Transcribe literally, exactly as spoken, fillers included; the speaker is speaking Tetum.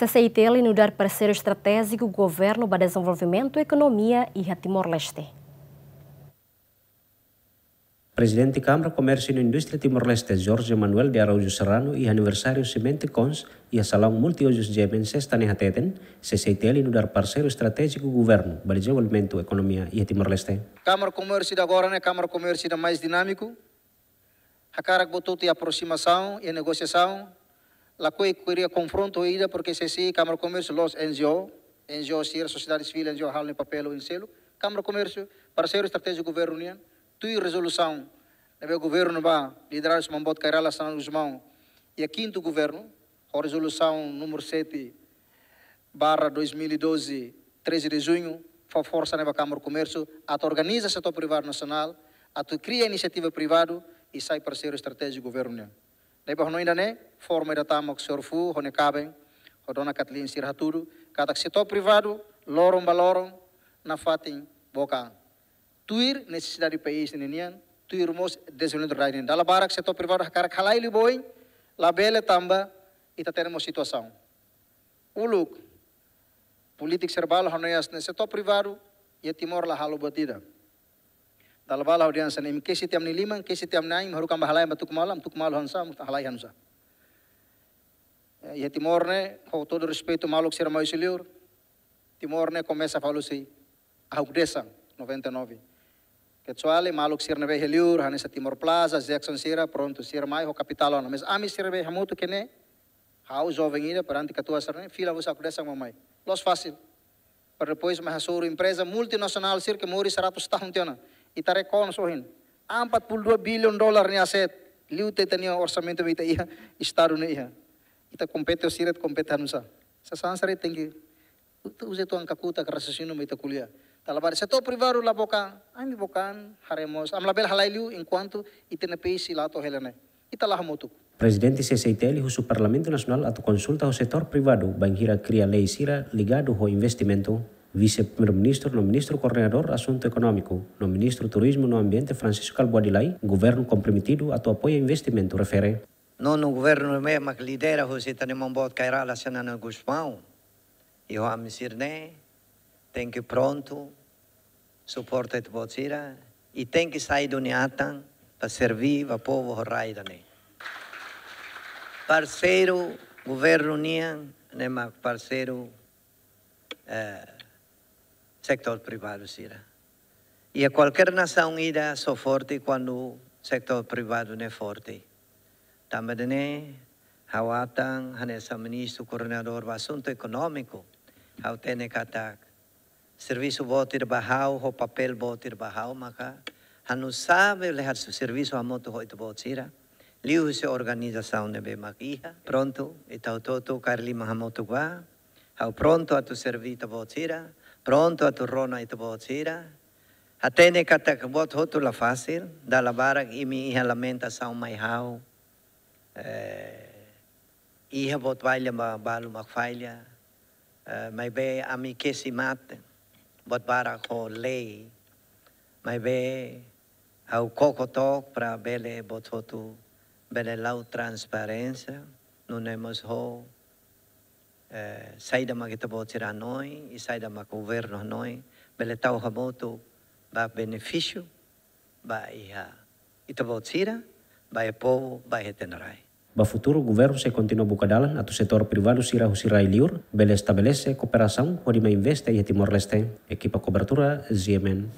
T C I T L nu'udar parseiru estratéjiku governu ba dezenvolvimentu ekonomia iha Timor-Leste. Prezidente Kámara Komérsiu no Indústria Timor-Leste, Jorge Manuel de Araújo Serrano, iha aniversáriu Semente Cons, iha salaun multiuzus G M N sesta ne'e hateten, C C I T L nu'udar parseiru estratéjiku governu ba dezenvolvimentu ekonomia iha Timor-Leste. Kámara Komérsiu ida agora ne'e Kámara Komérsiu ida mais dinámiku, hakarak buat hotu iha aprosimasaun, iha negosiasaun, lakohi kria konfrontu ida, porque C C I, Kámara Komérsiu, la'ós N G O, N G O sira, sosiedade sivíl, N G O halo nia papél oinsá seluk, Kámara Komérsiu, parseiru estratéjiku governu nian, tuir rezolusaun ne'ebé governu ba lideradu husi Maun Boot Kay Rala Xanana Gusmão, iha kintu governu, ho rezolusaun númeru sete barra dois mil e doze, treze de junho, fó forsa ne'e ba Kámara Komérsiu, atu organiza setór privadu nasionál, atu kria inisiativa privadu, i sai parseiru estratéjiku governu nian. Ne'ebé hanoin ida-ne'e, forma ida tama ho señór Fu, ho nia kaben, ho dona Kathleen sira hatudu, katak setór privadu, loron ba loron, nafatin book an. Tuir nesesidade país ninian, tuir mós dezenvolvimentu rai nian. Dala barak setór privadu hakarak halai liu ba oin, labele tanba, ita hatene mós situasaun. Uluk, polítiku sira balu hanoin hanesan ne'e setór privadu, iha Timor la halo buat ida. Dala barak ha'u dehan hanesan ne'e, imi kesi tiha ami-nia liman, kesi tiha ami-nia ain, imi haruka ami bá halai, ami bá tuku malu, ami tuku malu hanusa, halai hanusa. Eh, iha Timor ne'e, ho todo respeitu maluk sira mai husi liur, Timor ne'e komesa fali husi Ahuk Desan, noventa e nove. Kecuali maluk sira ne'ebé iha liur, hanesan Timor Plaza, Jackson sira, prontu, sira mai ho kapitál ona. Mas ami sira ne'ebé hamutuk iha ne'e, ha'u joven ida, perante katuas sira-ne'e, fila husi Ahuk Desan mak mai. Loos fasil. Para depois mai hasoru empreza multinasionál sira ke moris seratus tahun tiha ona. Ita rekoñese ohin. Empat puluh dua bilhon dolar nia aset. Liu ita-nia orsamentu mak ita iha, Estadu ne'e iha. Ita kompete ho sira, kompete hanusa. Sasán sira tenke, ita uza ita-nia kakutak, raciocínio mak ita ko'alia. Dala barak setór privadu la book an, ami book an, haree mós. Ami labele halai liu enkuantu ita-nia país sei la to'o hela ne'e. Ita la hamutuk. Prezidente C C I T L husu Parlamentu Nasionál atu konsulta ho setór privadu bainhira kria lei sira ligadu ho investimentu. Vise-Primeiru-Ministru no Ministru Koordenadór Asuntu Ekonómiku no Ministru Turizmu no Ambiente Francisco Kalbuadi Lay, governu komprometidu atu apoia investimentu refere. Nonu governu ne'ebé mak lidera husi ita-nia Maun Boot Kay Rala Xanana Gusmão, i ho ami sira-ne'e, tenke prontu, suporta ita-boot sira, i tenke sai duni atan, para serví ba povu ho rai ida-ne'e. Parseiru governu nian, ne'e mak parseiru, eh, setór privadu sira. Iha kualkér nasaun ida só forte kuandu setór privadu ne'e forte. Tanba ne'e, ha'u atan, hanesan Ministru Koordenadór ba Asuntu Ekonómiku, ha'u hatene katak servisu boot ida ba ha'u, ho papél boot ida ba ha'u, maka ha'u nu'usá bele halo servisu hamutuk ho ita-boot sira. Liuhusi organizasaun ne'ebé mak iha. Prontu, ita hotu-hotu kaer liman hamutuk ba. Ha'u prontu atu serví ita-boot sira. Prontu atu rona ita-boot sira. Hatene katak buat hotu la fasil. Dala barak imi iha lamentasaun mai ha'u. Eh, iha buat falla ba, balu mak falla. Eh, maibé ami kesi mate, buat barak ho lei. Maibé ha'u koko took para bele buat hotu bele la'o transparénsia, nune'e mós ho, eh, saida mak ita-boot sira hanoin, i saida mak governu hanoin, bele tau hamutuk ba benefísiu, ba iha ita-boot sira, ba iha povu, ba iha ita-nia rai. Ba futuru, governu sei kontinua buka dalan atu setór privadu sira husi rai liur bele estabelese kooperasaun hodi mai investe iha Timor-Leste. Ekipa kobertura, G M N.